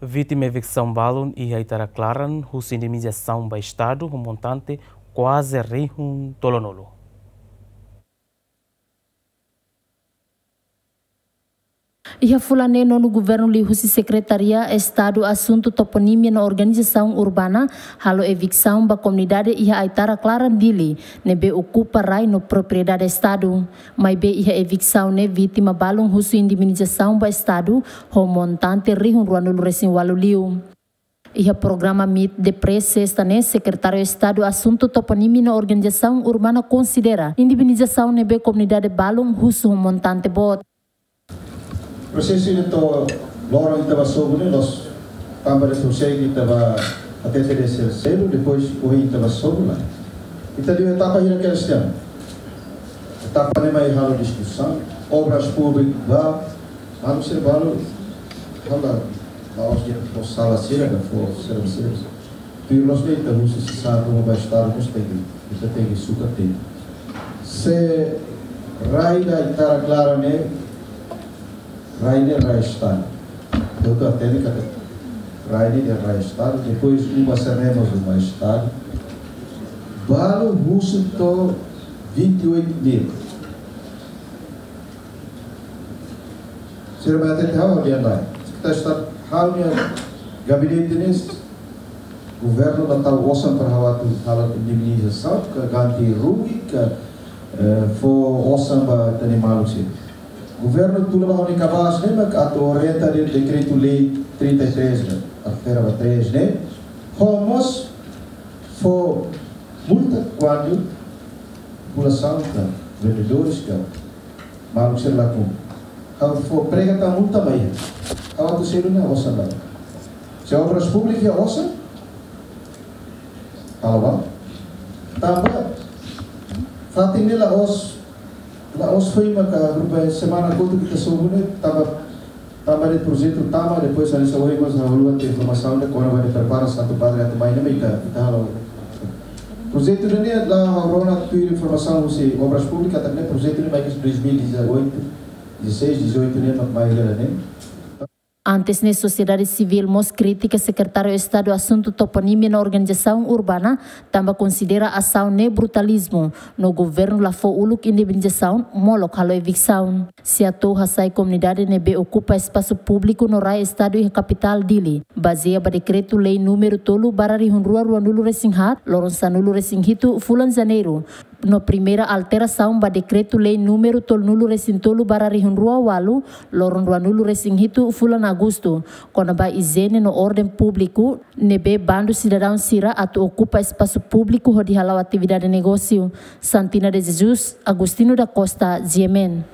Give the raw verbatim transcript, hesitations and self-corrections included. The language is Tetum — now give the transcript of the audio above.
Vítima eviksaun balun iha Aitara Klaran husu indemnizasaun ba Estadu ho montante kuaze rihun tolunulu. Iha fulan ne'e, nonu governu liuhusi Sekretaria Estadu Asuntu Toponímia no Organizasaun Urbana halo eviksaun ba komunidade iha Aitara Klaran, Dili, ne'ebé okupa rai no propriedade Estadu. Maibé iha eviksaun ne'e vítima balun husu indemnizasaun ba Estadu ho montante rihun ruanulu-resin-ualu liu. Iha programa Meet the Press Sesta ne'e, Sekretáriu Estadu Asuntu Toponímia no Organizasaun Urbana konsidera indemnizasaun ne'ebé komunidade balun husu ho montante boot. Prosesu ida to'o loron ita bá sobu ne'e, loos, tanba de prosegu ita bá hatete de'it selu, depois ohin ita bá sobu lai. Ita iha etapa hira ke sistema. Etapa ne'e mai halo diskusaun, obras públikas bá, maluk sira balun, halo, la'ós de'it fó sala sira, ka fó sira, sira. Tuir loos ne'e ita husu sasán ruma ba Estadu, mós tenke, ita tenke sukat tenke. Se rai ida Aitara Klaran ne'e, rai ne'e rai Estadu. Doutór Ateni kata, rai ne'e rai Estadu, depois uma semana uma Estadu. Balun husu to'o vinte e oito mil. Sira mai hatete ha'u, ha'u dehan lae. Sekretáriu Estadu, ha'u nia gabinete ne'e, governu la tau osan para ha'u atu halo indemnizasaun, ka ganti rugi, ka, eh, fó osan ba ita-nia maluk sira. Governu tula ba ha'u-nia kabaas ne'e, mak atu orienta de'it dekretu-lei trinta e três ne'e, altera ba três ne'e, ho mós fó multa kuandu populasaun ka vendedores ka maluk sira la kumpre. Ha'u fó prega tan multa mai. Ha'u atu selu ne'e osan ba. Se obras públikas iha osan, halo ba. Tanba fatin ne'e la'ós, la'ós foin maka, rupa semana kotuk ita sobu ne'e, tanba, tanba de'it projetu tama, depois hanesan ohin mós ha'u haluha tiha informasaun ne'e, kona-ba ne'e prepara Santu Padre atu mai ne'e, ita, ita halo. Projetu ne'e, la ha'u rona tuir informasaun husi Obras Públikas, katak ne'e projetu ne'e mai ke dois mil e dezoito, dezasseis, dezoito ne'e, mak mai hela ne'e. Antes ne'e, sosiedade sivíl mós kritika Sekretáriu Estadu Asuntu Toponímia no Organizasaun Urbana, tanba konsidera asaun ne'e brutalizmu, no governu la fó uluk indemnizasaun, molok halo eviksaun. Sei atu hasai komunidade ne'ebé okupa espasu públiku no rai Estadu iha kapitál Dili, bazeia ba dekretu-lei númeru tolu barra rihun rua ruanulu-resin-haat, loron sanulu-resin-hitu fulan Janeiru, no primeira alterasaun ba dekretu-lei númeru tolunulu-resin-tolu barra rihun rua ualu, loron ruanulu-resin-hitu fulan Agostu, kona-ba ijiene no orden públiku, ne'ebé bandu sidadaun sira atu okupa espasu públiku hodi hala'o atividade negósiu. Santina de Jesus, Agostinho da Costa, G M N.